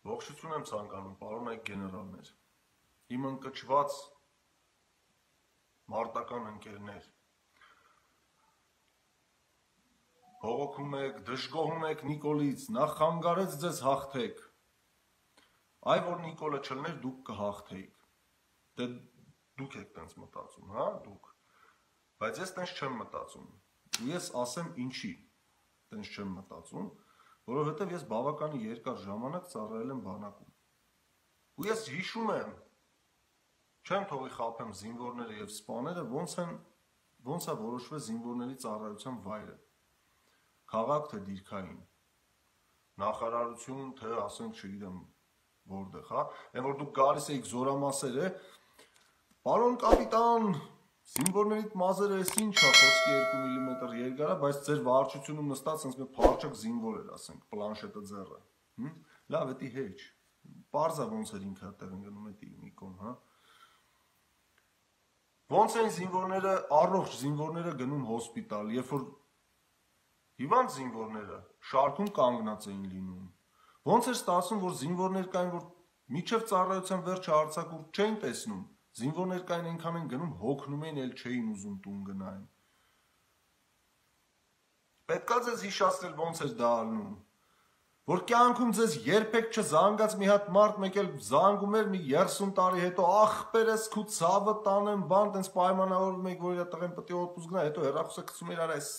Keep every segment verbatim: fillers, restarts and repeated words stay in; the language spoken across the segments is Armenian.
Ողջություն եմ ցանկանում, պարոն այք գեներալներ, իմ ընկճված մարտական ընկերներ, բողոքում եք, դժգոհում եք Նիկոլից, նա խանգարեց ձեզ հաղթեք, այ որ Նիկոլը չլներ դուք կհաղթեիք, դե դուք եք տենց մտածում, հա, դուք, բայց ես տենց չեմ մտածում, ու ես ասեմ ինչի տենց չեմ մտածում, որովհետև ես բավականի երկար ժամանակ ծառայել եմ բանակում, ու ես հիշում եմ, չեմ թողի խաբեմ զինվորները և սպաները, ոնց են, ոնց է որոշվել զինվորների ծառայության վայրը, քաղաք թե դիրքային, նախարարություն, թե ասենք չգիտեմ որտեղ, հա, այն որ դուք գալիս էիք զորամասեր է, պարոն կապիտան, զինվորներիդ մազերը էս ինչ է, խոսքի երկու միլիմետր երկար է, բայց ձեր վարչությունում նստած սենց մի փարչակ զինվոր էր, ասենք, պլանշետը ձեռը, լավ, էդի հեչ, պարզա ոնց էր ինքը տեղ ընկնում էդի Նիկոն, հա, ոնց են զինվորները, առողջ զինվորները գնում հոսպիտալ, երբ որ հիվանդ զինվորները շարքում կանգնած էին լինում, ոնց էր ստացվում, որ զինվորներ կային, որ միջև ծառայության վերջը արձակուրդ չէին տեսնում, զինվորներ կային այնքան են գնում, հոգնում էին, էլ չէին ուզում տուն գնային։ Պետք է ձեզ հիշացնել ոնց էր դա ալնում, որ կյանքում ձեզ երբեք չզանգած մի հատ մարդ մեկ էլ զանգում էր մի երեսուն տարի հետո, ախպերս քու ցավը տանեմ, բան, տենց պայմանավորվում եք, որ իր տղեն պետք է օդուս գնա, հետո հեռախոսը գցում էր արա, էս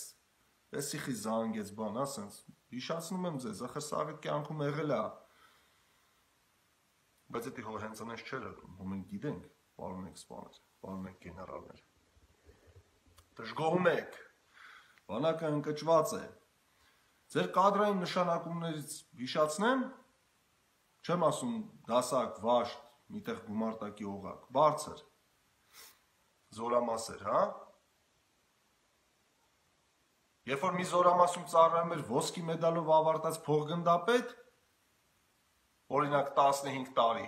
սիխի զանգեց բան, ասենց, հիշացնում եմ ձեզ, ախր սա այդ կյանքում եղել է, բայց էդի հո հենց անես չէր եղում, հո մենք գիտենք, պարոն եք սպաներ, պարոն եք գեներալներ, դժգոհում եք, բանակը ընկճված է, ձեր կադրային նշանակումներից հիշացնեմ, չեմ ասում դասակ, վաշտ, միտեղ գումարտակի օղակ, բարձր, զորամասեր, հա, երբ որ մի զորամասում ծառայում էր ոսկի մեդալով ավարտած փոխգնդապետ, օրինակ տասնհինգ տարի,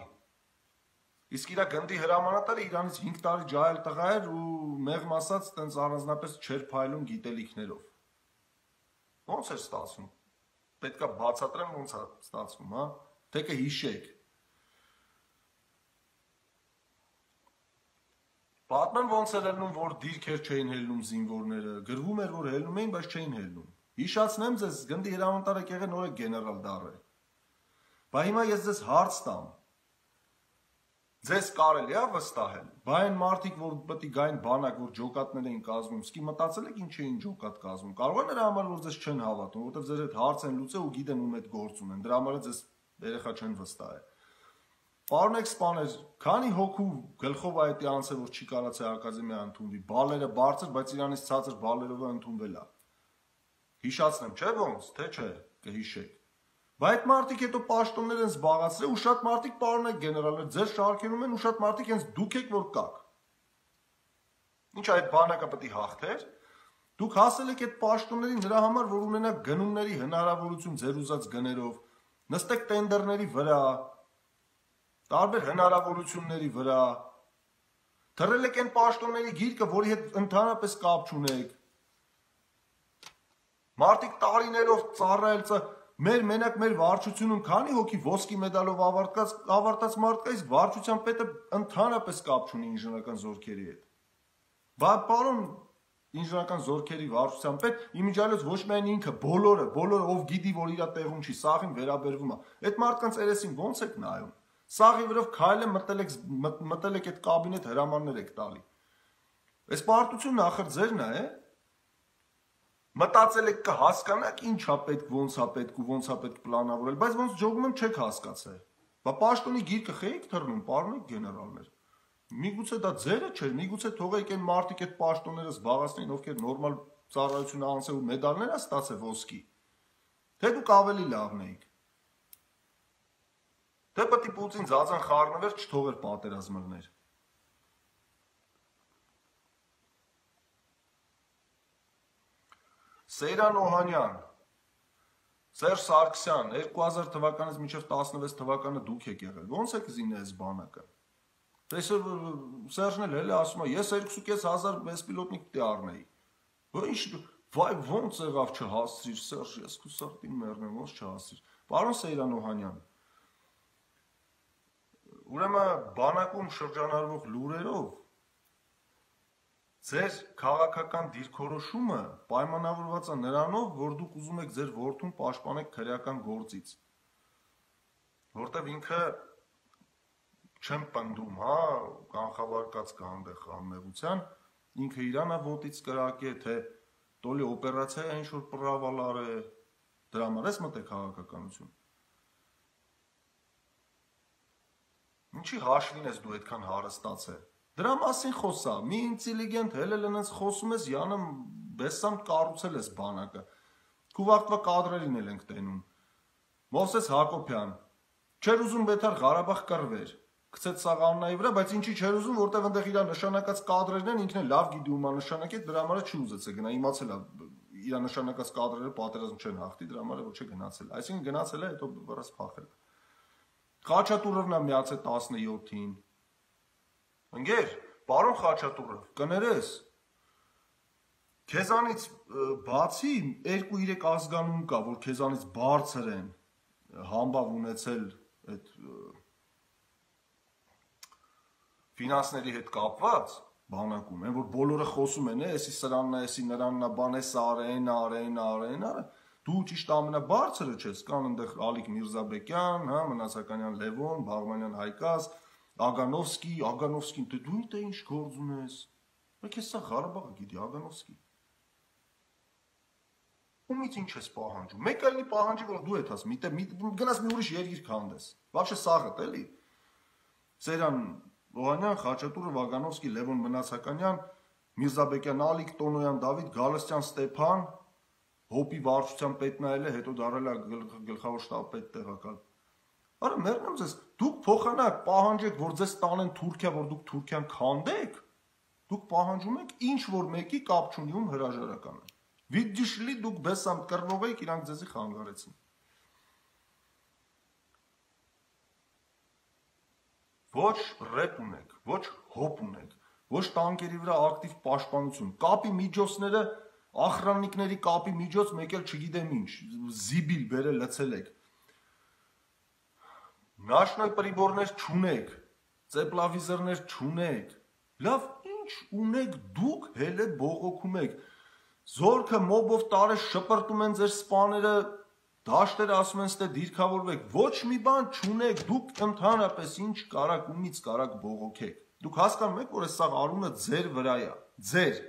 իսկ իրա գնդի հրամանատարը իրանից հինգ տարի ջահել տղա էր ու մեղմ ասած տենց առանձնապես չէր փայլում գիտելիքներով, ոնց էր ստացվում, պետք է բացատրեմ ոնց է ստացվում, հա, թե կհիշեք, պատմեմ ոնց էր ելնում, որ դիրքեր չէին հելնում զինվորները, գրվում էր, որ հելնում էին, բայց չէին հելնում, հիշացնեմ ձեզ, գնդի հրամանատարը եղել նոր է գեներալ դառել, բա հիմա ես ձեզ հարց տամ, ձեզ կարելի է վստահել, բա այն մարդիկ, որ պետք է գային բանակ, որ ջոկատներ էին կազմում, սկի մտածել եք ինչ էին ջոկատ կազմում, կարող է նրա համար, որ ձեզ չեն հավատում, որովհետև ձեր հետ հարց են լուծել ու գիտեն ում հետ գործ ունեն, դրա համար ձեզ երեխա չեն վստահել։ Պարոն եք սպաներ, քանի հոգու գլխով այդ անցել, որ չի կարացել ակադեմիա ընդունվի, բալերը բարձր, բայց իրանից ցածր բալերով է ընդունվել է։ Հիշացնեմ, չէ՞ ոնց, թե չէ, կհիշեք։ Բայց այդ մարդիկ հետո պաշտոններ են զբաղացրել ու շատ մարդիկ պարոն եք գեներալներ, ձեր շարքերում են ու շատ մարդիկ հենց դուք եք որ կաք։ Ինչ այդ բանակը պետք է հաղթեր։ Դուք հասել եք այդ պաշտոններին նրա համար, որ ունենաք գնումների հնարավորություն ձեր ուզած գներով, նստեք տենդերների վրա, տարբեր հնարավորությունների վրա, թռել եք այն պաշտոնների գիրկը, որի հետ ընդհանրապես կապ չունեք։ Մարդիկ տարիներով ծառայել Մեր մենակ մեր վարչությունում քանի հոգի ոսկի մեդալով ավարտած ավարտած մարդ կա, իսկ վարչության պետը ընդհանրապես կապ չունի ինժեներական զորքերի հետ։ Բա պարոն ինժեներական զորքերի վարչության պետ իմիջիալից ոչ միայն ինքը, բոլորը, բոլորը ով գիտի, որ իր տեղում չի, սաղին վերաբերվում է։ Այդ մարդկանց երեսին ո՞նց եք նայում։ Սաղի վրով քայլը մտել եք մտել եք այդ կաբինետ հրամաններ եք տալի։ Այս պարտությունն ախր ձերն է, է։ Մտածել եք կհասկանաք ինչա պետք, ոնց է պետք ու ոնց է պետք պլանավորել, բայց ոնց ջոգում եմ չեք հասկացել։ Բա պաշտոնի գիրկը խեիք թռնում, պարոն եք գեներալներ։ Միգուցե դա ձերը չէր, միգուցե թողեք այն մարդիկ այդ պաշտոնները զբաղեցնեին, ովքեր նորմալ ծառայություն անցել ու մեդալներ է ստացել ոսկի։ Թե դուք ավելի լավն էիք։ Թե պետք է Պուտին ձածան խառնվեր, չթողեր պատերազմ լներ։ Սեյրան Օհանյան, Սերժ Սարգսյան, երկու հազար թվականից մինչև տասնվեց թվականը դուք եք եղել, ոնց եք զինել այս բանակը։ Սերժն էլ էլ ասում է, ես երկուսուկես հազար բեսպիլոտնիկ պիտի առնեի։ Ինչ, վայ ոնց եղավ չհասցրիր, Սերժ, ես քու սրտին մեռնեմ, ոնց չհասցրիր։ Պարոն Սեյրան Օհանյան, ուրեմն բանակում շրջանառվող լուրերով ձեր քաղաքական դիրքորոշումը պայմանավորված է նրանով, որ դուք ուզում եք ձեր որդուն պաշտպանեք քրեական գործից, որտեվ ինքը չեմ պնդում, հա, կանխավարկած կա այնտեղ անմեղության, ինքը իրանա ոտից կրակե, թե տոլի օպերացիա է ինչ-որ պրավալար է, դրա համար ես մտե քաղաքականություն։ Ինչի հաշվին ես դու այդքան հարստացել։ Դրա մասին խոսա, մի ինտելիգենտ հելել այնց խոսում ես, Յանը բեսամ կառուցել ես բանակը։ Քու վաղտվա կադրերին էլ ենք տենում։ Մովսես Հակոբյան, չէր ուզում Բեթար Ղարաբաղ կռվեր, գցեց սաղաննայի վրա, բայց ինչի չէր ուզում, որտեղ այնտեղ իր նշանակած կադրերն են, ինքն էլ լավ գիտի ումա նշանակեց, դրա համար չի ուզեցել գնա, իմացել է իր նշանակած կադրերը պատերազմ չեն հաղթի, դրա համար ոչ է գնացել։ Այսինքն գնացել է, հետո վրաս փախել։ Խաչատուրովն է միացել տասնյոթին։ Ընկեր, պարոն Խաչատուրով, կներես։ Քեզանից բացի երկու-երեք ազգանուն կա, որ քեզանից բարձր են համբավ ունեցել այդ ֆինանսների հետ կապված բանակում, են որ բոլորը խոսում են, էսի սրանն է, էսի նրանն է, բան էս արեն, արեն, արեն, արեն, դու ճիշտ ամենաբարձրը չես, կան այնտեղ Ալիկ Միրզաբեկյան, հա, Մնացականյան Լևոն, Բաղմանյան Հայկաս, Ագանովսկի, Ագանովսկին, դե դու ինտե ինչ գործ ունես։ Բայց ես սա Ղարաբաղը գիտի, Ագանովսկի։ Ումից ինչ ես պահանջում։ Մեկ այլնի պահանջի, որ դու ես ասում, գնաս մի ուրիշ երկիր քանդես։ Вообще սաղդ էլի։ Սերան Օհանյան, Խաչատուրով, Ագանովսկի, Լևոն Մնացականյան, Միրզաբեկյան, Ալիկ, Տոնոյան, Դավիթ, Գալստյան, Ստեփան, Հոպի վարչության պետ նայել է, հետո դարել է գլխավոր շտաբ պետ տեղակալ։ Արա մեռնեմ ձեզ, դուք փոխանակ պահանջեք, որ ձեզ տանեն Թուրքիա, որ դուք Թուրքիան քանդեք, դուք պահանջում եք ինչ որ մեկի կապ չունի ում հրաժարականը։ Վիդիշլի դուք բեսամ կռվող եք, իրանք ձեզի խանգարեցին։ Ոչ ռեպ ունեք, ոչ հոպ ունեք, ոչ տանկերի վրա ակտիվ պաշտպանություն, կապի միջոցները, ախրաննիկների կապի միջոց մեկ էլ չգիտեմ ինչ, զիբիլ բերել լցել եք։ Նաշնոյ պրիբորներ չունեք, ծեպլավիզորներ չունեք, լավ ինչ ունեք դուք հել է բողոքում եք, զորքը մոբով տարես շպրտում են ձեր սպաները, դաշտերը ասում են ստե դիրքավորվեք, ոչ մի բան չունեք, դուք ընդհանրապես ինչ կարակ ումից կարակ բողոքեք, դուք հասկանում եք, որ այս սաղ արունը ձեր վրա է, ձեր,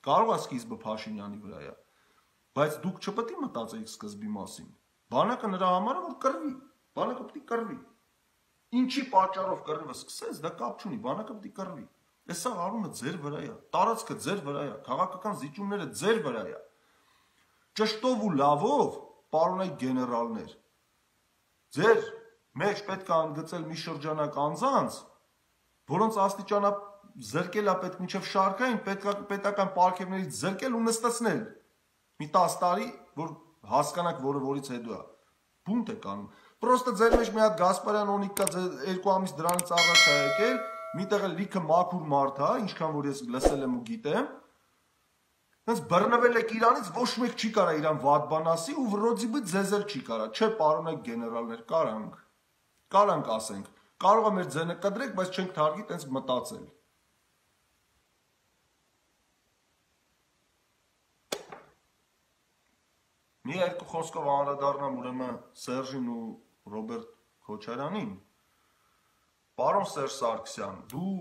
կարող է սկիզբը Փաշինյանի վրա է, բայց դուք չպետք է մտածեիք սկզբի մասին, բանակը նրա համար է, որ կռվի, բանակը պետք է կռվի, ինչի պատճառով կռիվը սկսեց, դա կապ չունի, բանակը պետք է կռվի, այս սաղ արունը ձեր վրա է, տարածքը ձեր վրա է, քաղաքական զիջումները ձեր վրա է, ճշտով ու լավով պարոնայք գեներալներ, ձեր մեջ պետք է ընդգծել մի շրջանակ անձանց, որոնց աստիճանա զրկել է պետք մինչև շարքային, պետական պարգևներից զրկել ու նստացնել, մի տասը տարի, որ հասկանաք, որը որից հետո է, բունտ է կանում, պրոստը ձեր մեջ մի հատ Գասպարյան Օնիկ կա, երկու ամիս դրանից առաջ է եկել, միտեղ էլ լիքը մաքուր մարդ է, ինչքան որ ես լսել եմ ու գիտեմ, հենց բռնվել եք իրանից, ոչ մեկ չի կարա իրան վատ բան ասի ու վրոձիբը ձեզ էլ չի կարա, չէ պարոնայք գեներալներ, կարանք, կարանք ասենք, կարող է մեր ձենը կդրեք, բայց չենք թարգի տենց մտածել։ Մի երկու խոսքով անդրադառնամ ուրեմն Սերժին ու Ռոբերտ Քոչարյանին։ Պարոն Սերժ Սարգսյան, դու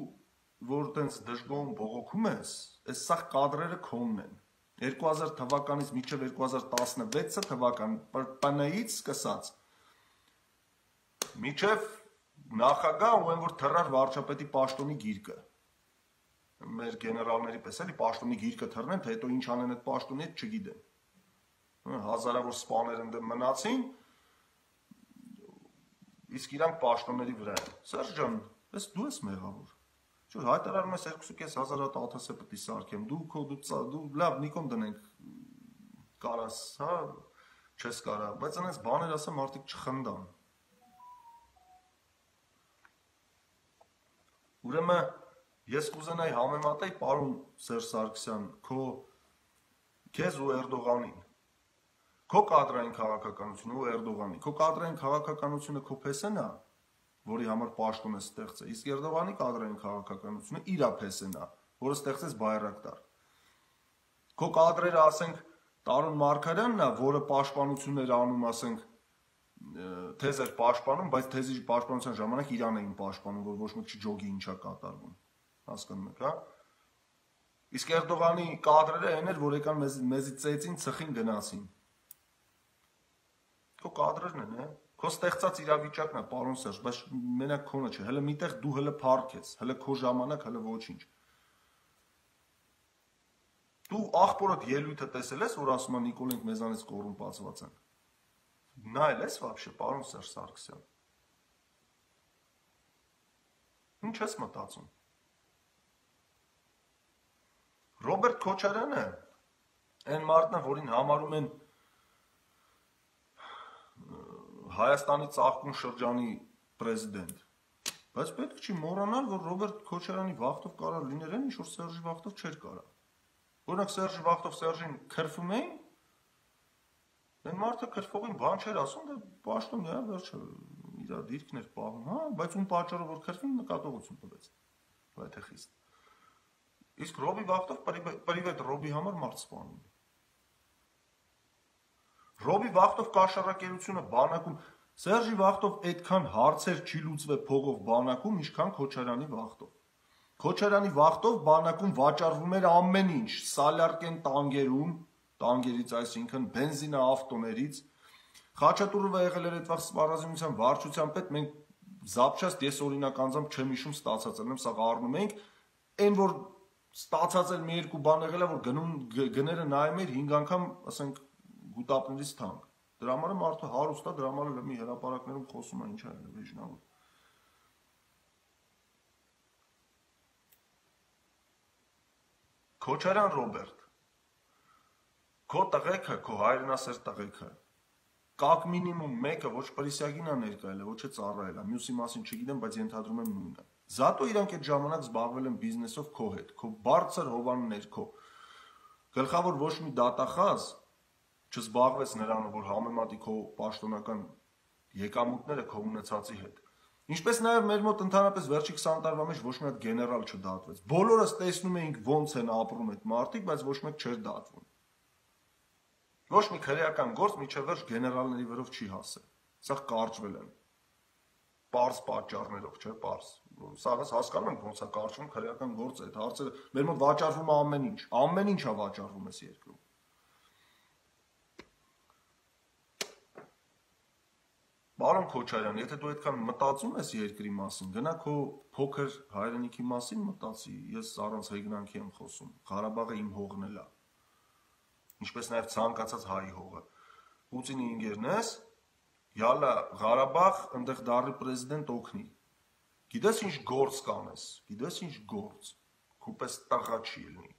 որ տենց դժգոհ բողոքում ես, այս սաղ կադրերը քոնն են։ երկու հազար թվականից մինչև երկու հազար տասնվեց թվական ՊՆ-ից սկսած մինչև նախագահ ու այն որ թռար վարչապետի պաշտոնի գիրկը։ Մեր գեներալների պես էլի պաշտոնի գիրկը թռնեն, թե հետո ինչ անեն այդ պաշտոնի հետ չգիտեմ։ Հազարավոր սպաներ ընդդեմ մնացին, իսկ իրանք պաշտոնների վրա են։ Սերժ ջան, ես դու ես մեղավոր։ Չէ, հայտարարում ես երկու կես հազար հատ աթս պետք է սարքեմ, դու քո դու լավ Նիկոն դնենք կարաս, հա, չես կարա, բայց այնպես բաներ ասեմ մարդիկ չխնդան։ Ուրեմն ես կուզենայի համեմատեի պարոն Սերժ Սարգսյան, քո քեզ ու Էրդողանին։ Քո կադրային քաղաքականությունը ու Էրդողանի, քո կադրային քաղաքականությունը քո փեսենա, որի համար պաշտոն է ստեղծել։ Իսկ Էրդողանի կադրային քաղաքականությունը իր ափեսն է, որը ստեղծեց Բայրակտար։ Քո կադրերը, ասենք, Տարոն Մարգարյանն է, որը պաշտպանություններ անում, ասենք, թեզ էր պաշտպանում, բայց թեզի պաշտպանության ժամանակ Իրան էին պաշտպանում, որ ոչ մեկ չջոգի ինչա կատարվում։ Հասկանում եք, հա։ Իսկ Էրդողանի կադրերը այն էր, որ եկան մեզ մեզի ծեծին, ցխին, գնացին։ Քո կադրերն են, հա։ Քո ստեղծած իրավիճակն է, պարոն Սերժ, բայց մենակ քոնը չէ, հələ միտեղ դու հələ փառք ես, հələ քո ժամանակ, հələ ոչինչ։ Դու աղբորդ ելույթը տեսել ես, որ ասում է Նիկոլենք մեզանից կոռումպացված են։ Նայել ես вообще, պարոն Սերժ Սարգսյան։ Ինչ ես մտածում։ Ռոբերտ Քոչարյանը այն մարդն է, որին համարում են Հայաստանի ծաղկուն շրջանի պրեզիդենտ։ Բայց պետք չի մոռանալ, որ Ռոբերտ Քոչարյանի վախտով կարող լիներ այն, ինչ որ Սերժի վախտով չէր կարող։ Օրինակ Սերժի վախտով Սերժին քրֆում էին, այն մարդը քրֆողին բան չէր ասում, դա պաշտոնն է, վերջը իր դիրքն էր պահում, հա, բայց ում պատճառով որ քրֆին նկատողություն տվեց։ Դա թե խիստ։ Իսկ Ռոբի վախտով պրիվետ Ռոբի համար մարդ սպանում։ Ռոբի վախտով կաշառակերությունը բանակում, Սերժի վախտով այդքան հարցեր չի լուծվել փողով բանակում, ինչքան Քոչարյանի վախտով։ Քոչարյանի վախտով բանակում վաճառվում էր ամեն ինչ, Սալյարկեն տանգերում, տանգերից, այսինքն բենզինա ավտոներից, Խաչատուրովը եղել էր այդ վաղ սպառազինության վարչության պետ, մենք զապչաստ ես օրինակ անձամբ չեմ հիշում ստացած եմ, սա առնում ենք, այն որ ստացած էր մի երկու բան եղել է, որ գնում գները նայում էր հինգ անգամ, ասենք, գուտապներից թանկ։ Դրա համար մարդը հարուստ է, դրա համար մի հրապարակներում խոսում է, ինչ է վեժնավոր։ Քոչարյան Ռոբերտ, քո տղեկը, քո հայրենասեր տղեկը, կակ մինիմում մեկը ոչ պրիսյագին է ներկայել է, ոչ է ծառայել է, մյուսի մասին չգիտեմ, բայց ենթադրում եմ նույնը։ Զատո իրանք այդ ժամանակ զբաղվել են բիզնեսով քո հետ, քո բարձր հովան ներքո։ Գլխավոր ոչ մի դատախազ չզբաղվեց նրանով, որ համեմատի քո պաշտոնական եկամուտները քո ունեցածի հետ։ Ինչպես նաև մեր մոտ ընդհանրապես վերջի քսան տարվա մեջ ոչ մի հատ գեներալ չդատվեց։ Բոլորս տեսնում էինք ոնց են ապրում այդ մարդիկ, բայց ոչ մեկ չէր դատվում։ Ոչ մի քրեական գործ միջև վերջ գեներալների վրով չի հասել։ Սա կարճվել են։ Պարզ պատճառներով, չէ՞, պարզ։ Սաղս հասկանում ենք ոնց է կարճվում քրեական գործը, այդ հարցերը մեր մոտ վաճառվում է ամեն ինչ, ամեն ինչ է վաճառվում այս երկրում։ Պարոն Քոչարյան, եթե դու այդքան մտածում ես երկրի մասին, գնա քո փոքր հայրենիքի մասին մտածի, ես առանց հեգնանքի եմ խոսում, Ղարաբաղը իմ հողն էլ է, ինչպես նաև ցանկացած հայի հողը, Պուտինի ինգերն ես, յալա Ղարաբաղ, ընդեղ դառի պրեզիդենտ օգնի, գիտես ինչ գործ կանես, գիտես ինչ գործ, քուպես տղա չի լինի։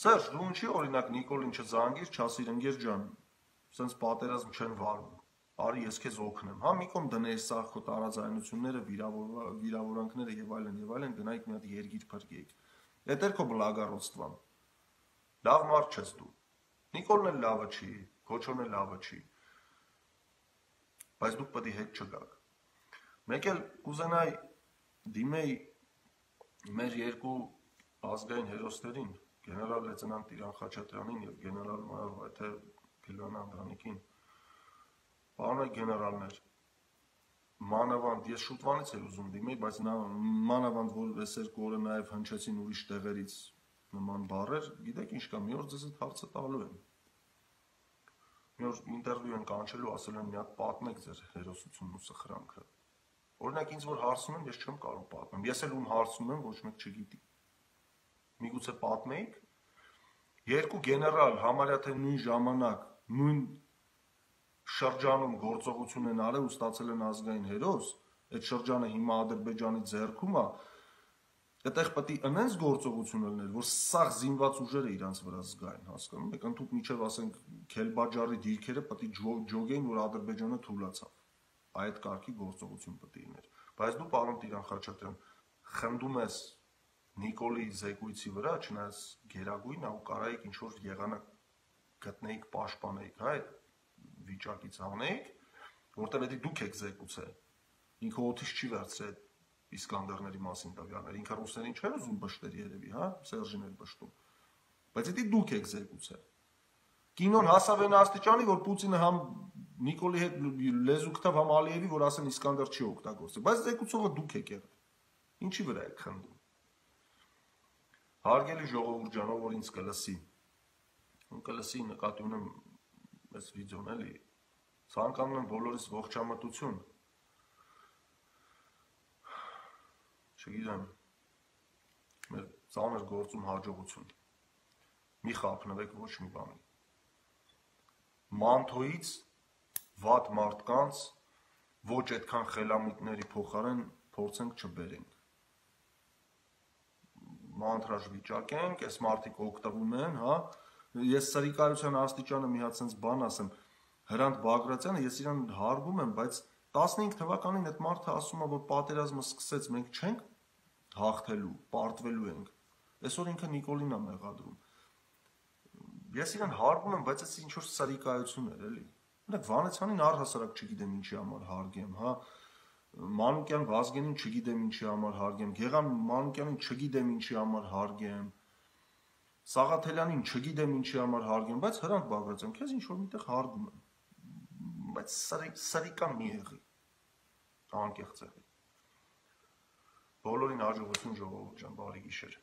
Սերժ, դու ինչի օրինակ Նիկոլին չզանգիր, չասիր ընկեր ջան, սենց պատերազմ չեն վարում, արի ես քեզ օգնեմ, հա մի կողմ դներ սա քո տարաձայնությունները, վիրավորանքները եւ այլն եւ այլն, գնայիք մի հատ երգիր փրկեիք։ Էդ էր քո բլագարոստվան։ Լավ մարդ չես դու։ Նիկոլն էլ լավը չի, Քոչոն էլ լավը չի։ Բայց դուք պետք է հետ չգաք։ Մեկ էլ կուզենայի դիմեի մեր երկու ազգային հերոսներին, գեներալ լեյտենանտ Տիրան Խաչատրյանին եւ գեներալ մայոր Վայթե Փիլոյան Անդրանիկին, պարոն գեներալներ, մանավանդ, ես շուտվանից էլ ուզում դիմեի, բայց մանավանդ, որ այս երկու օրը նաև հնչեցին ուրիշ տեղերից նման բառեր, գիտեք ինչ կա, մի օր ձեզ այդ հարցը տալու եմ։ Մի օր ինտերվյու են կանչելու, ասել են մի հատ պատմեք ձեր հերոսությունն ու սխրանքը։ Օրինակ ինձ որ հարցնում են, ես չեմ կարող պատմեմ, ես էլ ում հարցնում եմ, ոչ մեկ չգիտի։ Միգուցե պատմեիք։ Երկու գեներալ համարյա թե նույն ժամանակ նույն շրջանում գործողություն են արել ու ստացել են ազգային հերոս, այդ շրջանը հիմա Ադրբեջանի ձեռքում է, այդտեղ պետք է ընենց գործողություն լիներ, որ սաղ զինված ուժերը իրանց վրա զգային, հասկանում եք, ընդհանուր միջև ասենք Քելբաջարի դիրքերը պետք է ջոգեին, որ Ադրբեջանը թուլացավ։ Այդ կարգի գործողություն պետք է լիներ։ Բայց դու, պարոն Տիրան Խաչատրյան, խնդում ես Նիկոլի զեկույցի վրա, չնայած գերագույն է ու կարայիք ինչ որ եղանակ գտնեիք, պաշտպանեիք, հա, այդ վիճակից անեիք, որտեղ էդի դուք եք զեկուցել։ Ինքը օթից չի վերցրել Իսկանդերների մասին տվյալները, ինքը ռուսերին չէր ուզում բշտեր երևի, հա, Սերժին էլ բշտում։ Բայց էդի դուք եք զեկուցել։ Կինոն հասավ այն աստիճանի, որ Պուտինը համ Նիկոլի հետ լեզու գտավ, համ Ալիևի, որ ասեն Իսկանդեր չի օգտագործել, բայց զեկուցողը դուք եք եղել։ Ինչի վրա եք խնդում։ Հարգելի ժողովուրդ ջան, ով որ ինձ կլսի, կլսի նկատի ունեմ այս վիդեոն էլի, ցանկանում եմ բոլորիս ողջամտություն։ Չգիտեմ, մեր ծանր գործում հաջողություն։ Մի խափնվեք ոչ մի բանի։ Մանթոից վատ մարդկանց ոչ այդքան խելամիտների փոխարեն փորձենք չբերենք։ Մանտրաժ վիճակենք, այս մարդիկ օգտվում են, հա։ Ես սրիկայության աստիճանը մի հատ sense բան ասեմ, Հրանտ Բագրատյանը, ես իրան հարգում եմ, բայց տասնհինգ թվականին այդ մարդը ասում է, որ պատերազմը սկսեց, մենք չենք հաղթելու, պարտվելու ենք։ Այսօր ինքը Նիկոլին է մեղադրում։ Ես իրան հարգում եմ, բայց այս ինչ որ սրիկայություն էր, էլի։ Օրինակ Վանեցյանին առհասարակ չգիտեմ ինչի համար հարգեմ, հա։ Մանուկյան Վազգենին չգիտեմ ինչի համար հարգեմ, Գեղամ Մանուկյանին չգիտեմ ինչի համար հարգեմ, Սաղաթելյանին չգիտեմ ինչի համար հարգեմ, բայց Հրանտ Բագրատյան, քեզ ինչ որ միտեղ հարգում եմ, բայց սրիկա մի եղի, անկեղծ եղի։ Բոլորին հաջողություն ժողովուրդ ջան, բարի գիշեր։